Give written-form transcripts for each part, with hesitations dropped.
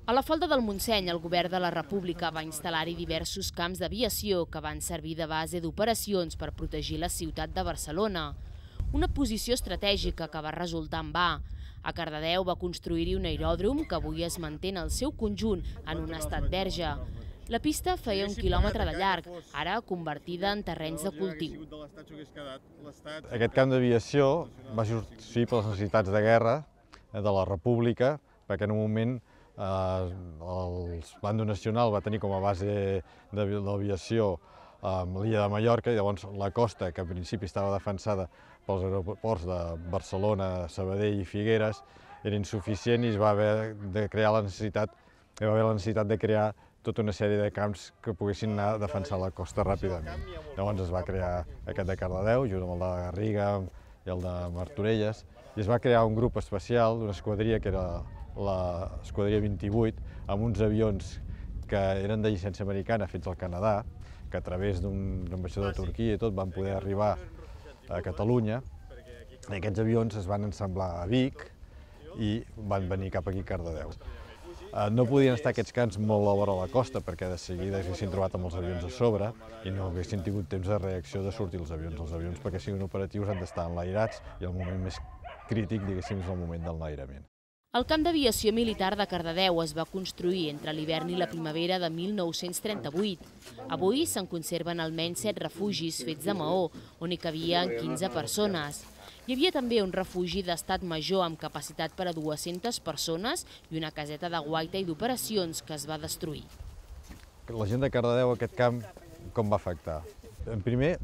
A la falda del Montseny, el govern de la República va instal·lar-hi diversos camps d'aviació que van servir de base d'operacions per protegir la ciutat de Barcelona. Una posició estratègica que va resultar en va. A Cardedeu va construir-hi un aeròdrom que avui es manté en el seu conjunt en un estat verge. La pista feia 1 quilòmetre de llarg, ara convertida en terrenys de cultiu. Aquest camp d'aviació va sorgir per les necessitats de guerra de la República, perquè en un moment el bàndol nacional va tenir com a base d'aviació l'illa de Mallorca i llavors la costa, que en principi estava defensada pels aeroports de Barcelona, Sabadell i Figueres, era insuficient i es va haver de crear la necessitat de crear tota una sèrie de camps que poguessin anar a defensar la costa ràpidament. Llavors es va crear aquest de Cardedeu, junt amb el de Garriga i el de Martorelles, i es va crear un grup especial d'una esquadria que era l'esquadria 28, amb uns avions que eren de llicència americana fets al Canadà, que a través d'un ambaixador de Turquia i tot van poder arribar a Catalunya. I aquests avions es van ensamblar a Vic i van venir cap aquí a Cardedeu. No podien estar aquests camps molt a vora la costa perquè de seguida s'haguessin trobat amb els avions a sobre i no haguessin tingut temps de reacció de sortir els avions. Els avions, perquè siguin operatius, han d'estar enlairats i el moment més crític, diguéssim, és el moment del enlairament. El camp d'aviació militar de Cardedeu es va construir entre l'hivern i la primavera de 1938. Avui se'n conserven almenys 7 refugis fets de maó, on hi cabien 15 persones. Hi havia també un refugi d'estat major amb capacitat per a 200 persones i una caseta de guaita i d'operacions que es va destruir. La gent de Cardedeu, aquest camp, com va afectar? En primer,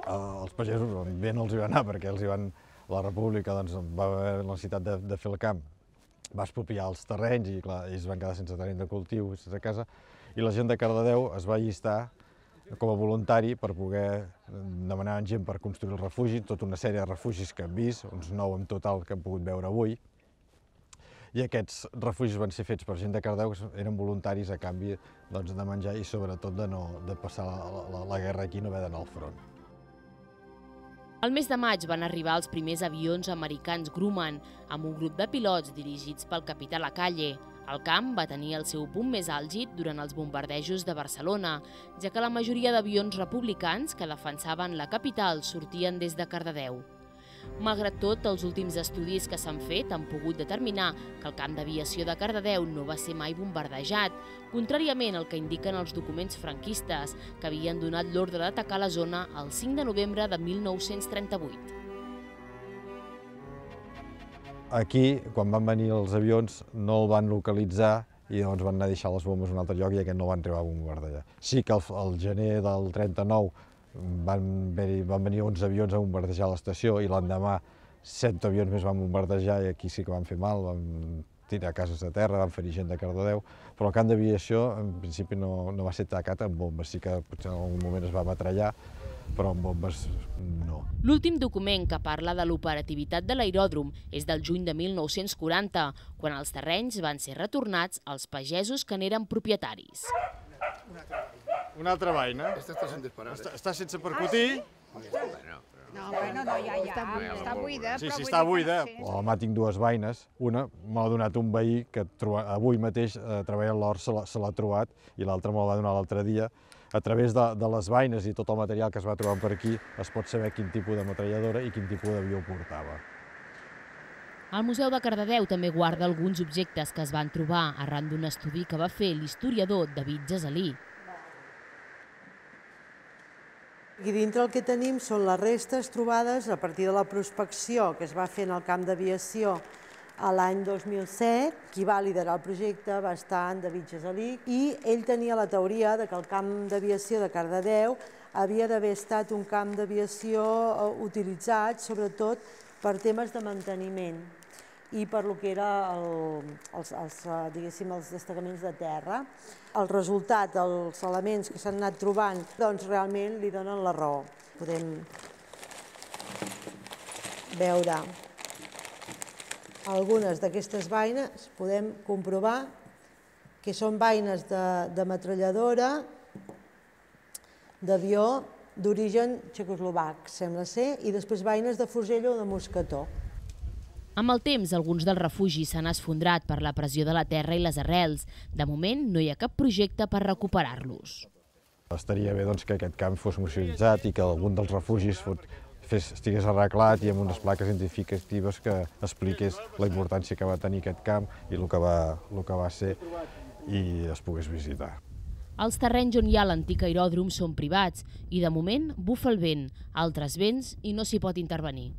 els pagesos bé no els hi va anar perquè la República va haver la necessitat de fer el camp. Va expropiar els terrenys i clar, ells van quedar sense terreny de cultiu, sense casa, i la gent de Cardedeu es va allistar com a voluntari per poder demanar gent per construir el refugi, tota una sèrie de refugis que hem vist, uns 9 en total que hem pogut veure avui. I aquests refugis van ser fets per gent de Cardedeu que eren voluntaris a canvi de menjar i sobretot de passar la guerra aquí i no haver d'anar al front. Al mes de maig van arribar els primers avions americans Grumman, amb un grup de pilots dirigits pel capità Lacalle. El camp va tenir el seu punt més àlgid durant els bombardejos de Barcelona, ja que la majoria d'avions republicans que defensaven la capital sortien des de Cardedeu. Malgrat tot, els últims estudis que s'han fet han pogut determinar que el camp d'aviació de Cardedeu no va ser mai bombardejat, contràriament al que indiquen els documents franquistes, que havien donat l'ordre d'atacar la zona el 5 de novembre de 1938. Aquí, quan van venir els avions, no el van localitzar i llavors van anar a deixar les bombes en un altre lloc i aquest no van arribar a bombardejar. Sí que al gener del 39 van venir 11 avions a bombardejar l'estació i l'endemà 7 avions més van bombardejar i aquí sí que van fer mal, van tirar cases a terra, van ferir gent de Cardedeu, però el camp d'aviació en principi no va ser atacat amb bombes, sí que potser en algun moment es va metrallar, però amb bombes no. L'últim document que parla de l'operativitat de l'aeròdrom és del juny de 1940, quan els terrenys van ser retornats als pagesos que n'eren propietaris. Una altra vaina. Esta està sense disparar. Està sense percutir. No, bueno, no, ja, està buida. Sí, està buida. Demà tinc 2 vaines. Una me l'ha donat un veí que avui mateix treballant l'hort se l'ha trobat i l'altra me la va donar l'altre dia. A través de les vaines i tot el material que es va trobant per aquí es pot saber quin tipus de metralladora i quin tipus d'avió portava. El Museu de Cardedeu també guarda alguns objectes que es van trobar arran d'un estudi que va fer l'historiador David Gesalí. Aquí dintre el que tenim són les restes trobades a partir de la prospecció que es va fer en el camp d'aviació l'any 2007. Qui va liderar el projecte va estar en David Gesalí i ell tenia la teoria que el camp d'aviació de Cardedeu havia d'haver estat un camp d'aviació utilitzat sobretot per temes de manteniment i per lo que eren els destacaments de terra. El resultat, els elements que s'han anat trobant, doncs realment li donen la raó. Podem veure algunes d'aquestes vaines, podem comprovar que són vaines de metralladora d'avió d'origen txecoslovac, sembla ser, i després vaines de fusell o de mosquetó. Amb el temps, alguns dels refugis s'han esfondrat per la pressió de la terra i les arrels. De moment, no hi ha cap projecte per recuperar-los. Estaria bé que aquest camp fos museïtzat i que algun dels refugis estigués arreglat i amb unes plaques identificatives que expliqués la importància que va tenir aquest camp i el que va ser i es pogués visitar. Els terrenys on hi ha l'antic aeròdrom són privats i de moment bufa el vent, altres vents i no s'hi pot intervenir.